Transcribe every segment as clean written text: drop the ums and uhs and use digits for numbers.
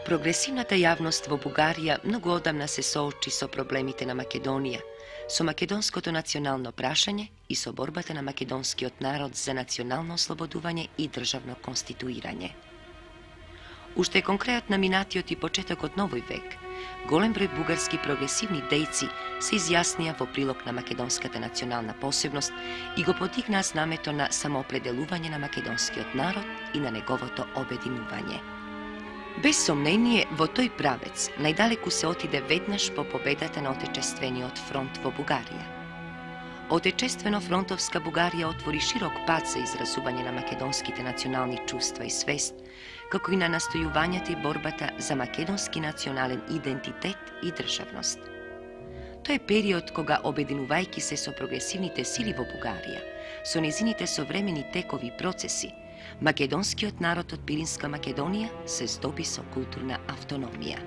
Прогресивната јавност во Бугарија многу одамна се соочи со проблемите на Македонија, со македонското национално прашање и со борбата на македонскиот народ за национално ослободување и државно конституирање. Уште конкретно на минатиот и почетокот новој век, голем број бугарски прогресивни дејци се изјаснија во прилог на македонската национална посебност и го подигнаа знамето на самоопределување на македонскиот народ и на неговото обединување. Без сомнение, во тој правец најдалеку се отиде веднаш по победата на Отечествениот фронт во Бугарија. Отечествено-фронтовска Бугарија отвори широк пат за изразување на македонските национални чувства и свест, како и на настојувањето и борбата за македонски национален идентитет и државност. Тој е период кога, обединувајќи се со прогресивните сили во Бугарија, со незините современи текови и процеси, македонскиот народ од Пиринска Македонија се здоби со културна автономија.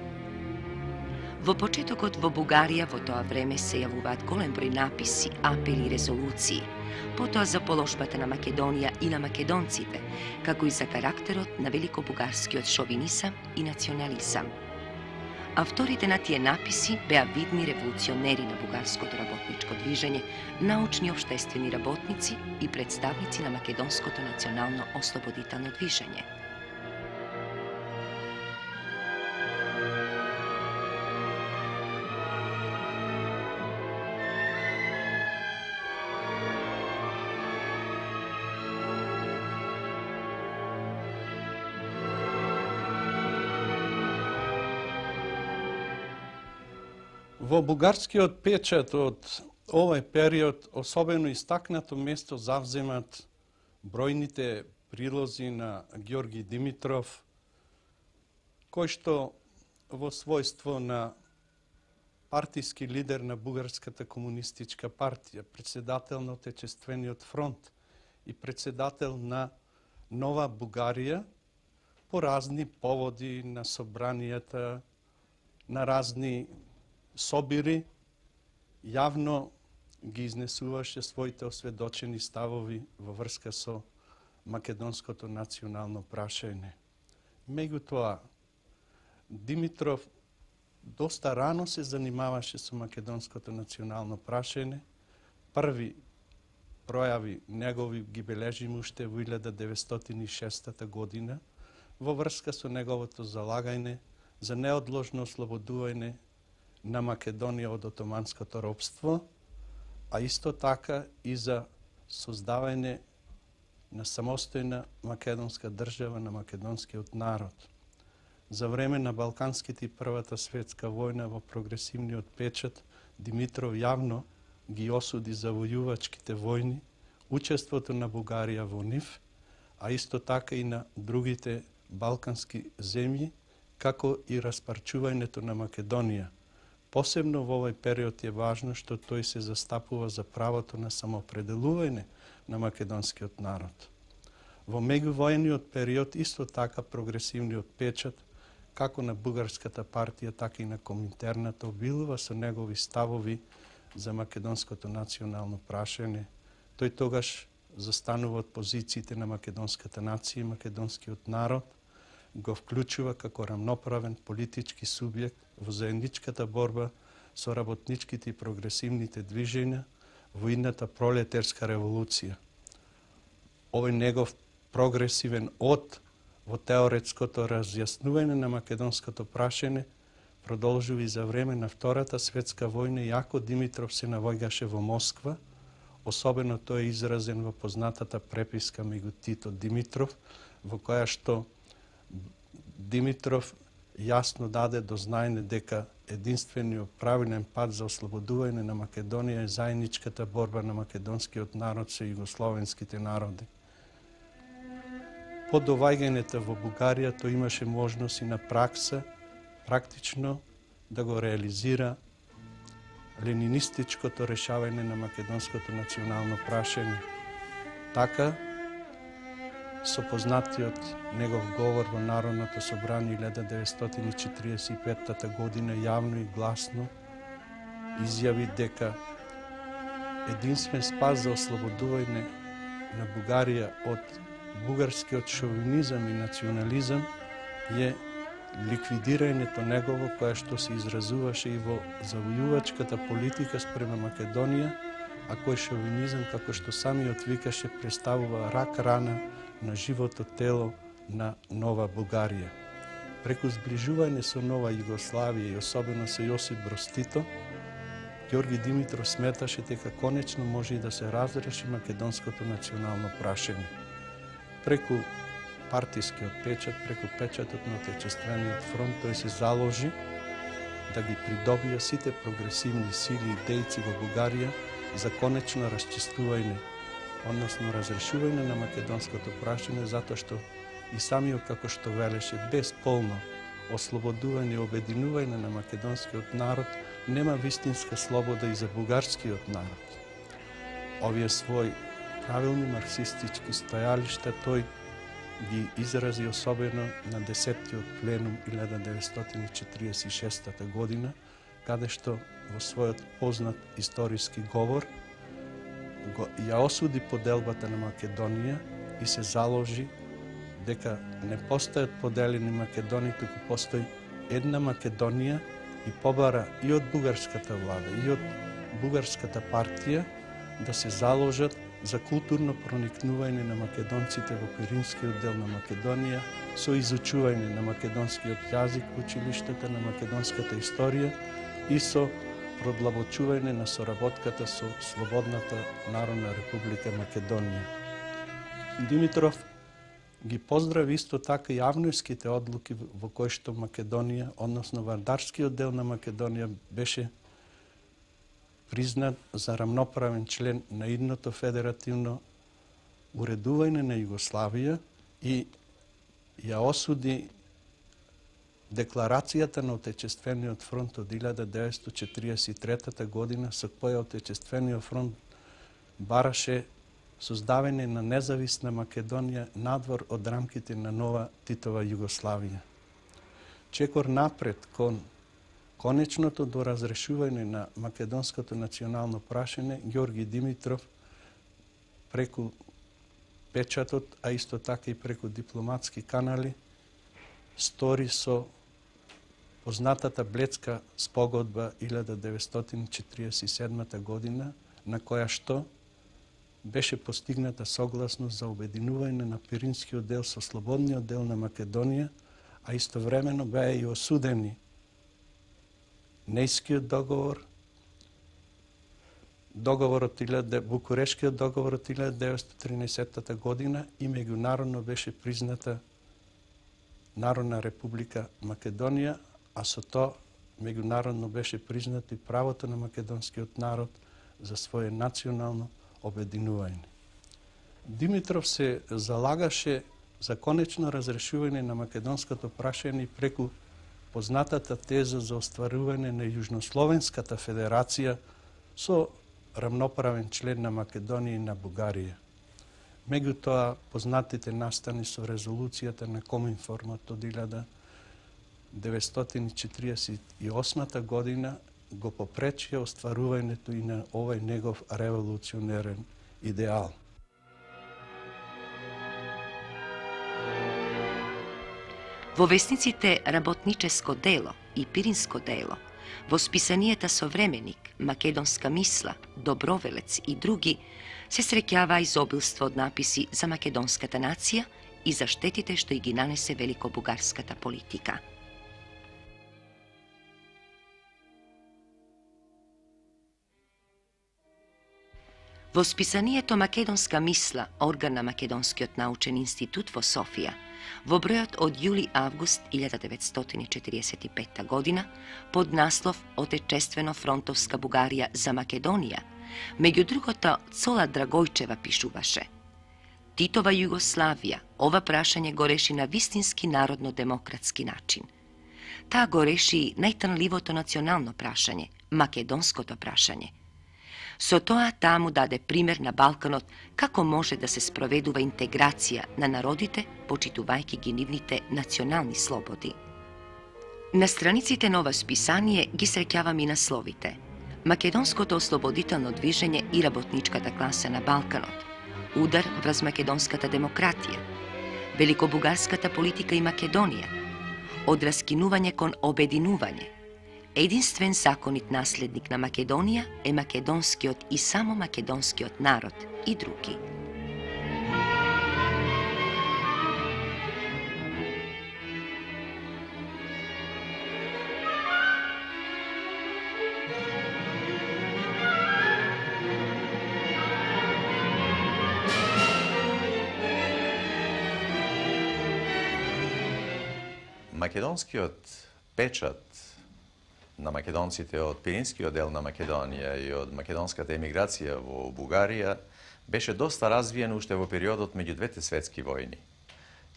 Во почетокот во Бугарија во тоа време се јавуваат голем број написи, апели и резолуции, потоа за положбата на Македонија и на македонците, како и за карактерот на великобугарскиот шовинизам и национализам. Авторите на тие написи беа видни револуционери на бугарското работничко движење, научни општествени работници и представници на македонското национално ослободително движење. Во бугарскиот печат од овој период особено истакнато место завземат бројните прилози на Ѓорги Димитров, кој што во својство на партиски лидер на Бугарската комунистичка партија, председател на Отечествениот фронт и председател на Нова Бугарија, по разни поводи на собранијата, на разни собири, јавно ги изнесуваше своите осведочени ставови во врска со македонското национално прашање. Меѓутоа, Димитров доста рано се занимаваше со македонското национално прашање. Први пројави негови ги бележиме уште во 1906 година во врска со неговото залагање за неодложно ослободување на Македонија од отоманското робство, а исто така и за создавање на самостојна македонска држава на македонскиот народ. За време на Балканските и Првата светска војна во прогресивниот печат, Димитров јавно ги осуди завојувачките војни, учеството на Бугарија во нив, а исто така и на другите балкански земји, како и распарчувањето на Македонија. Посебно во овој период е важно што тој се застапува за правото на самоопределување на македонскиот народ. Во меѓувојниот период исто така прогресивниот печат, како на Бугарската партија, така и на Коминтерната, обилува со негови ставови за македонското национално прашање. Тој тогаш застанува од позициите на македонската нација и македонскиот народ, го вклучува како рамноправен политички субјект во заедничката борба со работничките и прогресивните движења во идната пролетерска револуција. Овој негов прогресивен од во теоретското разјаснување на македонското прашање продолжува и за време на Втората светска војна, иако Димитров се наоѓаше во Москва, особено тој е изразен во познатата преписка меѓу Тито Димитров, во која што Димитров јасно даде до знаење дека единствениот правилен пат за ослободување на Македонија е заедничката борба на македонскиот народ со југословенските народи. По доваѓањето во Бугарија тој имаше можност и на пракса практично да го реализира ленинистичкото решавање на македонското национално прашање. Така, со познатиот негов говор во Народното собрание 1945 година јавно и гласно изјави дека единствен спас за ослободување на Бугарија од бугарскиот шовинизам и национализам е ликвидирањето негово, кое што се изразуваше и во завојувачката политика спрема Македонија, а кој шовинизам, како што самиот викаше, представува рак рана на живото тело на нова Бугарија. Преку зближување со нова Југославија и особено со Јосип Броз Тито, Ѓорги Димитров сметаше дека конечно може и да се разреши македонското национално прашање. Преку партискиот печат, преку печатот на Отечествениот фронт, тој се заложи да ги придобија сите прогресивни сили и дејци во Бугарија за конечно расчистување, односно разрешување на македонското прашање, затоа што и самиот, како што велеше, без полно ослободување и обединување на македонскиот народ, нема вистинска слобода и за бугарскиот народ. Овие своји правилни марксистички стојалишта тој ги изрази особено на 10-тиот пленум 1946 година, каде што во својот познат историски говор ја осуди поделбата на Македонија и се заложи дека не постојат поделени Македонии, туку постои една Македонија и побара и од бугарската влада, и од бугарската партија да се заложат за културно проникнување на македонците во Пиринскиот дел на Македонија, со изучување на македонскиот јазик во училиштата, на македонската историја и со продлабочување на соработката со Слободната Народна Република Македонија. Димитров ги поздрави исто така и авнојските одлуки во кои што Македонија, односно Вардарскиот дел на Македонија, беше признат за рамноправен член на идното федеративно уредување на Југославија и ја осуди декларацијата на Отечествениот фронт од 1943 година, со која Отечествениот фронт бараше создавање на независна Македонија надвор од рамките на нова Титова Југославија. Чекор напред кон конечното до разрешување на македонското национално прашање, Ѓорги Димитров преку печатот, а исто така и преку дипломатски канали, стори со познатата Бледска спогодба 1947 година, на која што беше постигната согласност за обединување на Пиринскиот дел со Слободниот дел на Македонија, а истовремено беа и осудени Нејскиот договор, Букурешкиот договор од 1913 година и меѓународно беше призната Народна република Македонија, а со тоа меѓународно беше признато и правото на македонскиот народ за своје национално обединување. Димитров се залагаше за конечно разрешување на македонското прашање преку познатата теза за остварување на Јужнословенската федерација со рамноправен член на Македонија и на Бугарија. Меѓутоа, познатите настани со резолуцијата на Коминформот од 1948 година го попречија остварувањето и на овој негов револуционерен идеал. Во весниците Работническо дело и Пиринско дело, во списанијата Современик, Македонска мисла, Добровелец и други, се среќава изобилство од написи за македонската нација и за штетите што и ги нанесе великобугарската политика. Во списанието Македонска мисла, орган на Македонскиот научен институт во Софија, во бројот од јули-август 1945 година, под наслов Отечествено фронтовска Бугарија за Македонија, меѓу другото Цола Драгојчева пишуваше: Титова Југославија ова прашање го реши на вистински народно-демократски начин. Таа го реши најтрнливото национално прашање, македонското прашање. Со тоа таа му даде пример на Балканот како може да се спроведува интеграција на народите, почитувајќи ги нивните национални слободи. На страниците на ова списание ги среќавам и насловите: Македонското ослободително движење и работничката класа на Балканот, удар врз македонската демократија, великобугарската политика и Македонија, од раскинување кон обединување. Единствен законит наследник на Македонија е македонскиот и само македонскиот народ и други. Македонскиот печат на македонците од Пиринскиот дел на Македонија и од македонската емиграција во Бугарија беше доста развиен уште во периодот меѓу двете светски војни.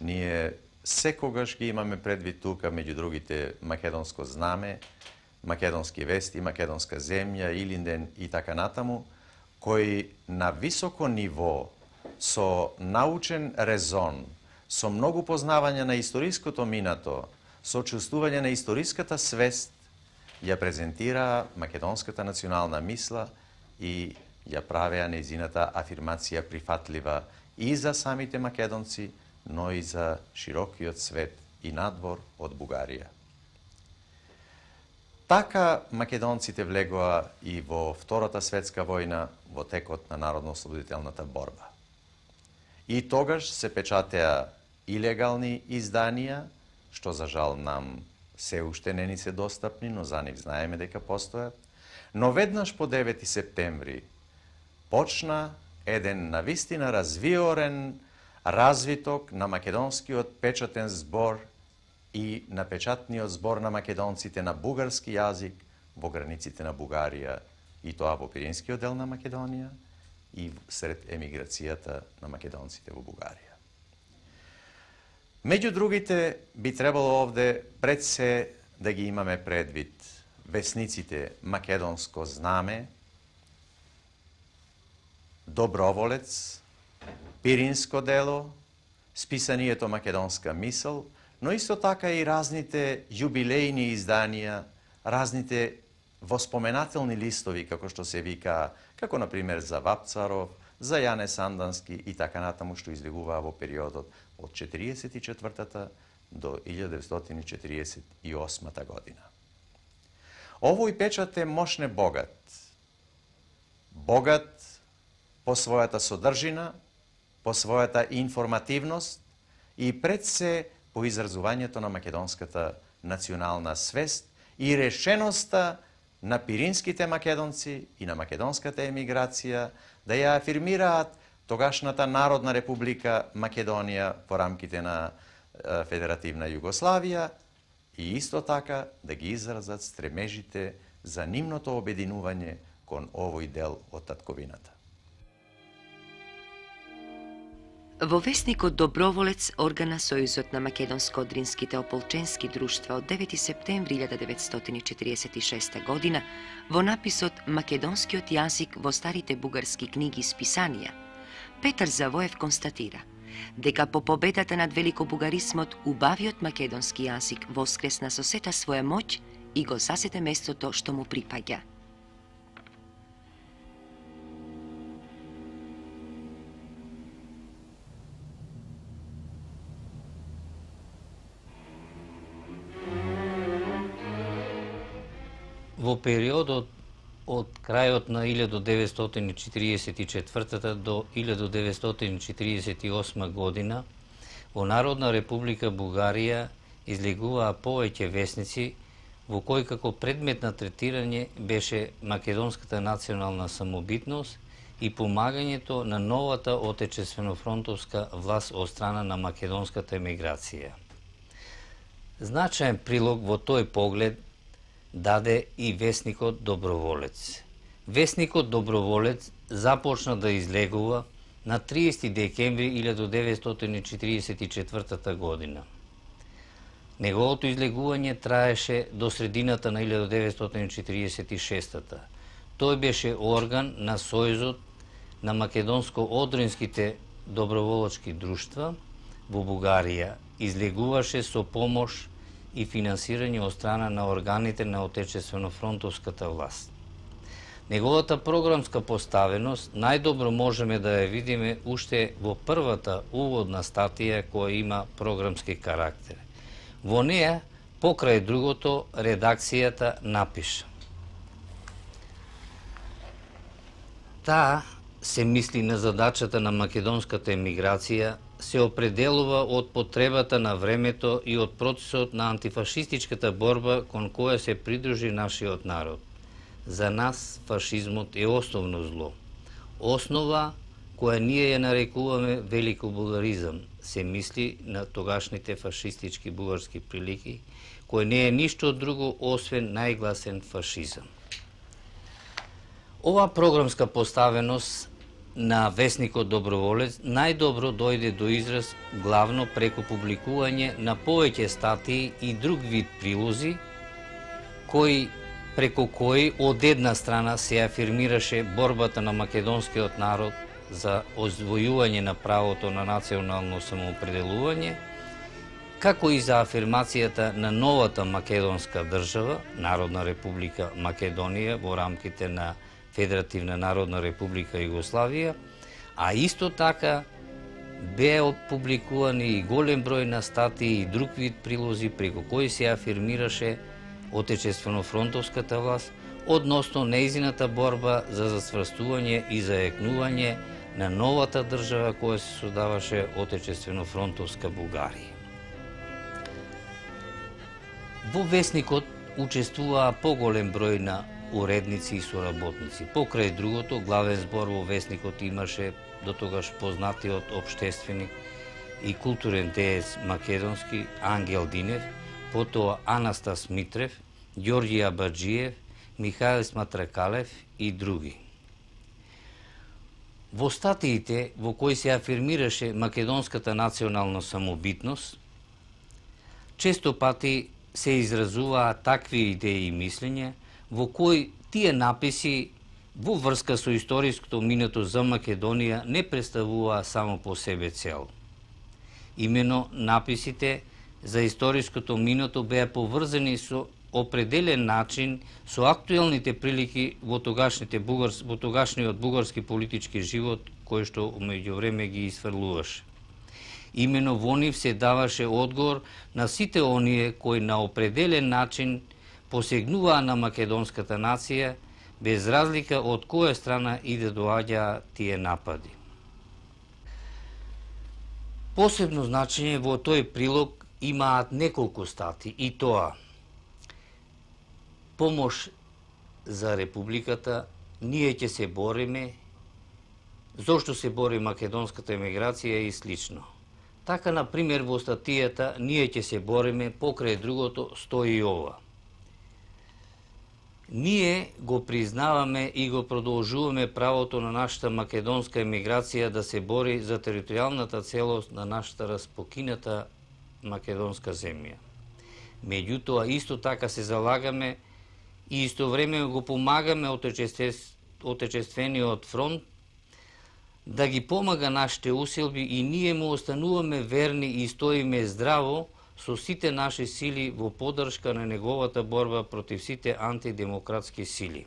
Ние секогаш ги имаме предвид тука, меѓу другите, македонско знаме, македонски вести, македонска земја, Илинден и така натаму, кои на високо ниво, со научен резон, со многу познавање на историското минато, со чувствување на историската свест, ја презентираа македонската национална мисла и ја правеа нејзината афирмација прифатлива и за самите македонци, но и за широкиот свет и надвор од Бугарија. Така македонците влегоа и во Втората светска војна во текот на народно-ослободителната борба. И тогаш се печатеа илегални изданија, што за жал нам се уште не ни се достапни, но за нив знаеме дека постојат. Но веднаш по 9 септември почна еден навистина развиорен развиток на македонскиот печатен збор и на печатниот збор на македонците на бугарски јазик во границите на Бугарија, и тоа во Пиринскиот дел на Македонија и сред емиграцијата на македонците во Бугарија. Меѓу другите, би требало овде пред се да ги имаме предвид весниците Македонско знаме, Доброволец, Пиринско дело, списанието Македонска мисел, но исто така и разните јубилејни изданија, разните воспоменателни листови, како што се вика, како например за Вапцаров, за Јане Сандански и така натаму, што излегуваа во периодот од 1944 до 1948 година. Овој печат е мощне богат. Богат по својата содржина, по својата информативност и пред се по изразувањето на македонската национална свест и решеноста на пиринските македонци и на македонската емиграција да ја афирмираат тогашната Народна република Македонија во рамките на Федеративна Југославија и исто така да ги изразат стремежите за нивното обединување кон овој дел од татковината. Во весникот Доброволец, орган на Сојузот на македонско-одринските ополченски друштва од 9 септември 1946 година, во написот Македонскиот јазик во старите бугарски книги и списанија, Петар Завоев констатира дека по победата над великобугаризмот убавиот македонски јазик воскресна со сета своја моќ и го засете местото што му припаѓа. Во периодот од крајот на 1944 до 1948 година во Народна република Бугарија излегуваа повеќе весници во кои како предмет на третирање беше македонската национална самобитност и помагањето на новата отечествено-фронтовска власт од страна на македонската емиграција. Значаен прилог во тој поглед даде и весникот Доброволец. Весникот Доброволец започна да излегува на 30 декември 1944 година. Неговото излегување траеше до средината на 1946-та. Тој беше орган на Сојузот на македонско-одринските доброволочки друштва во Бугарија. Излегуваше со помош и финансирање од страна на органите на отечествено-фронтовската власт. Неговата програмска поставеност најдобро можеме да ја видиме уште во првата уводна статија која има програмски карактер. Во неја покрај другото редакцијата напиша: таа се мисли на задачата на македонската емиграција, се определува од потребата на времето и од процесот на антифашистичката борба кон која се придружи нашиот народ. За нас фашизмот е основно зло. Основа која ние ја нарекуваме великобулгаризам, се мисли на тогашните фашистички бугарски прилики, кој не е ништо друго освен најгласен фашизам. Ова програмска поставеност на весникот Доброволец најдобро дојде до израз главно преку публикување на повеќе статии и друг вид прилози, преку кои од една страна се афирмираше борбата на македонскиот народ за озвојување на правото на национално самоопределување, како и за афирмацијата на новата македонска држава, Народна република Македонија во рамките на Федеративна Народна република Југославија, а исто така беа публикувани и голем број на статии и друг вид прилози преку кои се афирмираше отечествено-фронтовската власт односно нејзината борба за засврстување и заекнување на новата држава која се создаваше отечествено-фронтовска Бугарија. Во весникот учествуваа поголем број на уредници и соработници. Покрај другото, главен збор во весникот имаше дотогаш познатиот општественик и културен деец македонски Ангел Динев, потоа Анастас Митрев, Ѓорѓи Абаџиев, Михаил Сматракалев и други. Во статиите во кои се афирмираше македонската национална самобитност, често пати се изразуваа такви идеи и мислења во кои тие написи во врска со историското минато за Македонија не представуваа само по себе цел. Имено написите за историското минато беа поврзани со определен начин со актуелните прилики во тогашниот бугарски политички живот, кој што меѓувреме ги изфрлуваше. Имено во нив се даваше одговор на сите оние кои на определен начин посегнуваа на македонската нација, без разлика од која страна и да доаѓаа тие напади. Посебно значење во тој прилог имаат неколку стати, и тоа: помош за Републиката, ние ќе се бориме, зошто се бори македонската емиграција и слично. Така, например, во статијата ние ќе се бориме, покрај другото стои ова: ние го признаваме и го продолжуваме правото на нашата македонска емиграција да се бори за територијалната целост на нашата распокината македонска земја. Меѓутоа, исто така се залагаме и истовремено го помагаме отечествениот фронт да ги помага нашите усилби и ние му остануваме верни и стоиме здраво со сите наши сили во поддршка на неговата борба против сите антидемократски сили.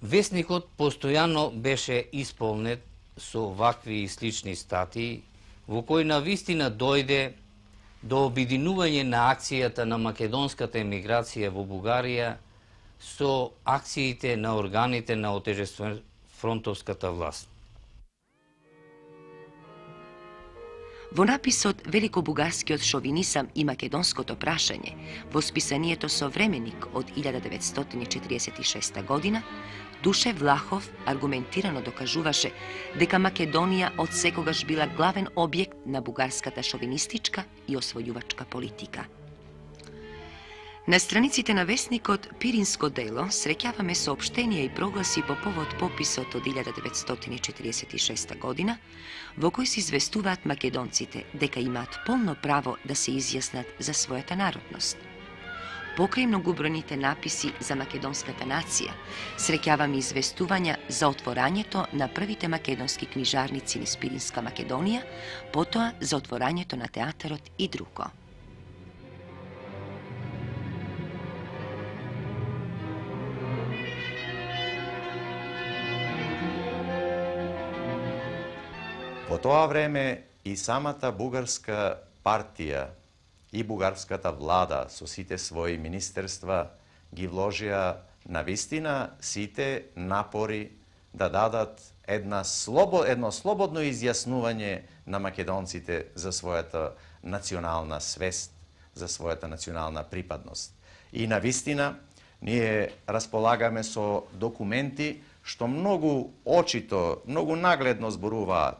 Весникот постојано беше исполнет со вакви и слични статии, во кои навистина дојде до обединување на акцијата на македонската емиграција во Бугарија со акциите на органите на отечествено-фронтовската власт. Во написот Великобугарскиот шовинизам и македонското прашање, во списанието Современик од 1946 година, Душе Влахов аргументирано докажуваше дека Македонија од секогаш била главен објект на бугарската шовинистичка и освојувачка политика. На страниците на весникот Пиринско дело среќаваме соопштенија и прогласи по повод пописот од 1946 година, во кој се известуваат македонците дека имаат полно право да се изјаснат за својата народност. Покрај многобројните написи за македонската нација, среќаваме известувања за отворањето на првите македонски книжарници низ Пиринска Македонија, потоа за отворањето на театарот и друго. Во тоа време и самата бугарска партија и бугарската влада со сите своји министерства ги вложија навистина сите напори да дадат едно слободно изјаснување на македонците за својата национална свест, за својата национална припадност. И навистина, ние располагаме со документи што многу очито, многу нагледно зборуваат.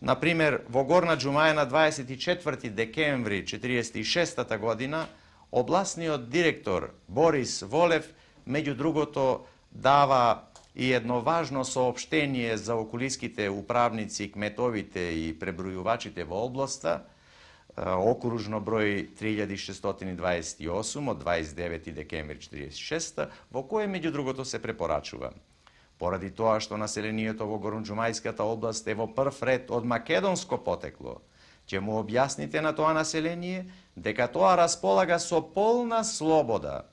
Например, во Горна Џумаја на 24 декември 1946 година, областниот директор Борис Волев, меѓу другото, дава и едно важно соопштение за околиските управници, кметовите и пребројувачите во областа, окружно број 3628 од 29 декември 1946, во кое меѓу другото се препорачува: поради тоа што населението во Горноџумајската област е во прв ред од македонско потекло, ќе му објасните на тоа население дека тоа располага со полна слобода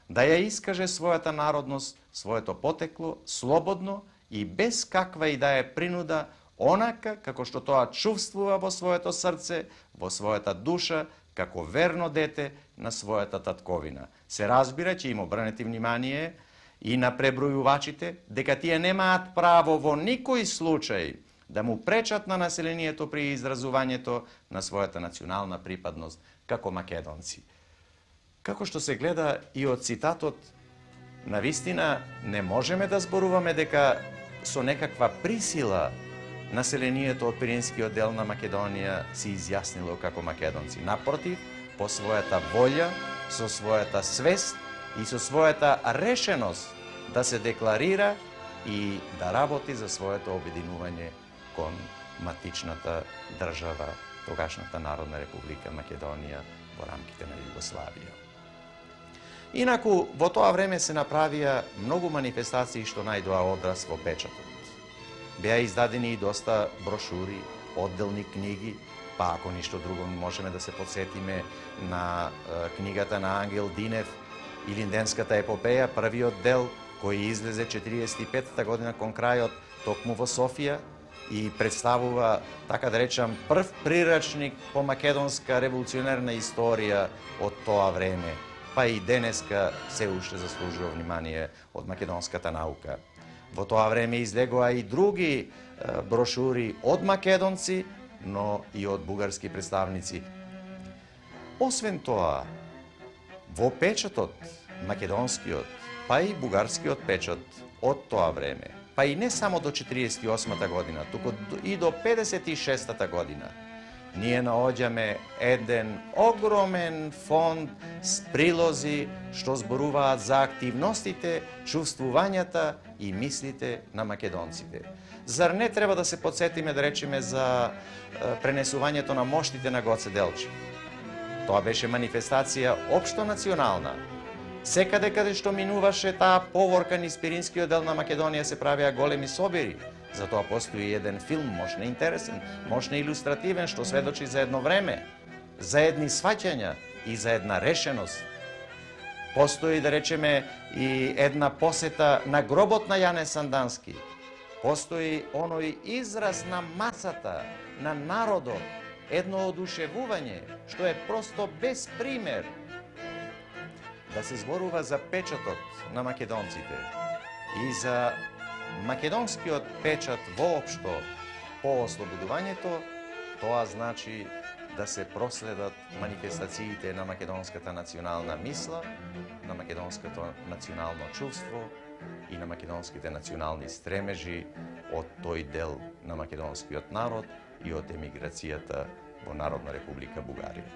да ја искаже својата народност, своето потекло, слободно и без каква и да е принуда, онака како што тоа чувствува во своето срце, во својата душа, како верно дете на својата татковина. Се разбира, ќе им обрнете внимание и на пребројувачите дека тие немаат право во никој случај да му пречат на населението при изразувањето на својата национална припадност како македонци. Како што се гледа и од цитатот, навистина не можеме да зборуваме дека со некаква присила населението од Пиринскиот дел на Македонија се изјаснило како македонци. Напротив, по својата волја, со својата свест и со својата решеност да се декларира и да работи за своето обединување кон матичната држава, тогашната Народна република Македонија во рамките на Југославија. Инаку, во тоа време се направија многу манифестации што најдоа одраз во печатот. Беа издадени и доста брошури, одделни книги, па ако ништо друго можеме да се подсетиме на книгата на Ангел Динев Илинденската епопеја, првиот дел кој излезе 45-та година кон крајот токму во Софија и представува, така да речам, прв прирачник по македонска револуционерна историја од тоа време, па и денеска се уште заслужува внимание од македонската наука. Во тоа време излегоа и други брошури од македонци, но и од бугарски представници. Освен тоа, во печатот македонскиот, па и бугарскиот печат од тоа време, па и не само до 48-та година, туку и до 56-та година, ние наоѓаме еден огромен фонд с прилози што зборуваат за активностите, чувствувањата и мислите на македонците. Зар не треба да се подсетиме, да речеме, за пренесувањето на моштите на Гоце Делчев? Тоа беше манифестација општо национална. Секаде каде што минуваше таа поворка низ Пиринскиот дел на Македонија се правеа големи собери. Затоа постои еден филм, можна интересен, можна илустративен, што сведочи за едно време, за едни сваќања и за една решеност. Постои, да речеме, и една посета на гробот на Јане Сандански. Постои оној израз на масата, на народот, едно одушевување, што е просто без пример. Да се зборува за печатот на македонците и за македонскиот печат воопшто по ослободувањето, тоа значи да се проследат манифестациите на македонската национална мисла, на македонското национално чувство и на македонските национални стремежи од тој дел на македонскиот народ и од емиграцијата во Народна република Бугарија.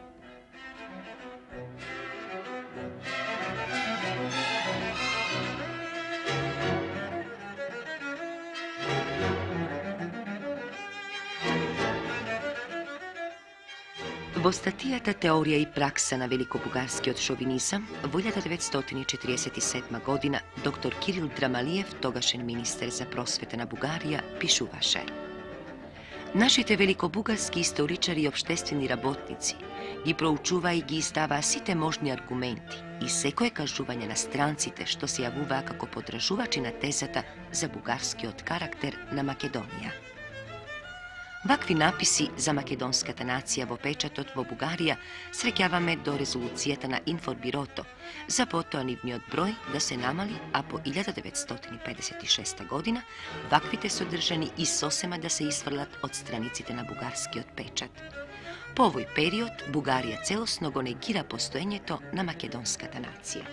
Во статијата Теорија и пракса на великобугарскиот шовинизам во 1947 година доктор Кирил Драмалиев, тогашен министер за просвета на Бугарија, пишуваше: Нашите великобугарски историчари и обштествени работници ги проучуваа и ги издаваа сите можни аргументи и секое кажување на странците што се јавуваа како подржувачи на тезата за бугарскиот карактер на Македонија. Вакви написи за македонската нација во печатот во Бугарија среќаваме до резолуцијата на Информбирото, за потоа нивниот број да се намали, а по 1956 година ваквите содржани и сосема да се исфрлат од страниците на бугарскиот печат. По овој период Бугарија целосно го негира постоењето на македонската нација.